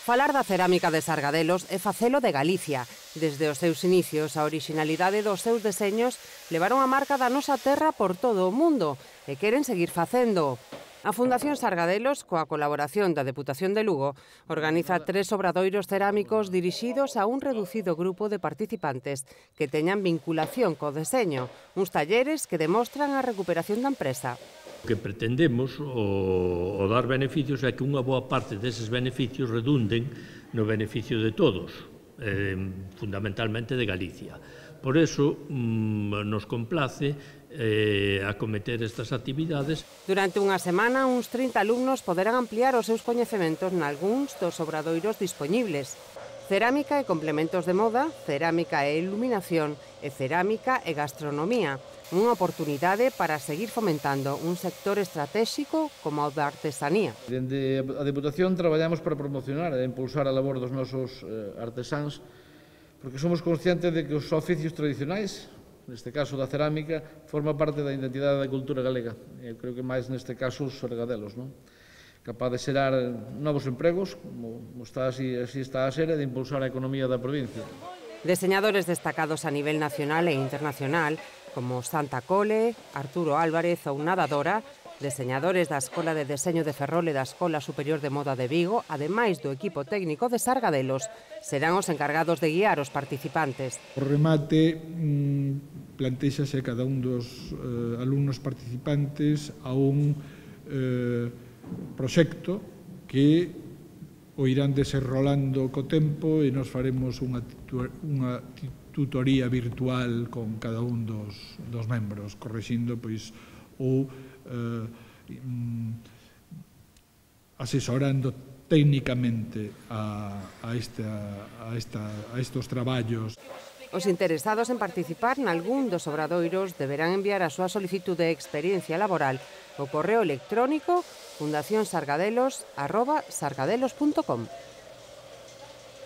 Falar da cerámica de Sargadelos é facelo de Galicia. Desde os seus inicios, a orixinalidade dos seus deseños levaron a marca da nosa terra por todo o mundo e queren seguir facendo. A Fundación Sargadelos, coa colaboración da Deputación de Lugo, organiza 3 obradoiros cerámicos dirixidos a un reducido grupo de participantes que teñan vinculación co deseño, uns talleres que demostran a recuperación da empresa. O que pretendemos o dar beneficios é que unha boa parte deses beneficios redunden no beneficio de todos, fundamentalmente de Galicia. Por eso nos complace acometer estas actividades. Durante unha semana, uns 30 alumnos poderán ampliar os seus coñecementos nalgúns dos obradoiros dispoñibles. Cerámica e complementos de moda, cerámica e iluminación e cerámica e gastronomía. Unha oportunidade para seguir fomentando un sector estratéxico como o da artesanía. Dende a Deputación traballamos para promocionar e impulsar a labor dos nosos artesáns, porque somos conscientes de que os oficios tradicionais, neste caso da cerámica, forma parte da identidade da cultura galega. Eu creo que máis neste caso os Sargadelos, non? Capaz de xerar novos empregos, como así está a ser, e de impulsar a economía da provincia. Deseñadores destacados a nivel nacional e internacional, como Santa Cole, Arturo Álvarez ou Nadadora, deseñadores da Escola de Deseño de Ferrol e da Escola Superior de Moda de Vigo, ademais do equipo técnico de Sargadelos, serán os encargados de guiar os participantes. O remate plantéxase cada un dos alumnos participantes a un proxecto que o irán desenrolando co tempo e nos faremos unha tutoría virtual con cada un dos membros, correxindo pois ou asesorando técnicamente a estes traballos. Os interesados en participar nalgún dos obradoiros deberán enviar a súa solicitude de experiencia laboral ao correo electrónico fundacionsargadelos@sargadelos.com.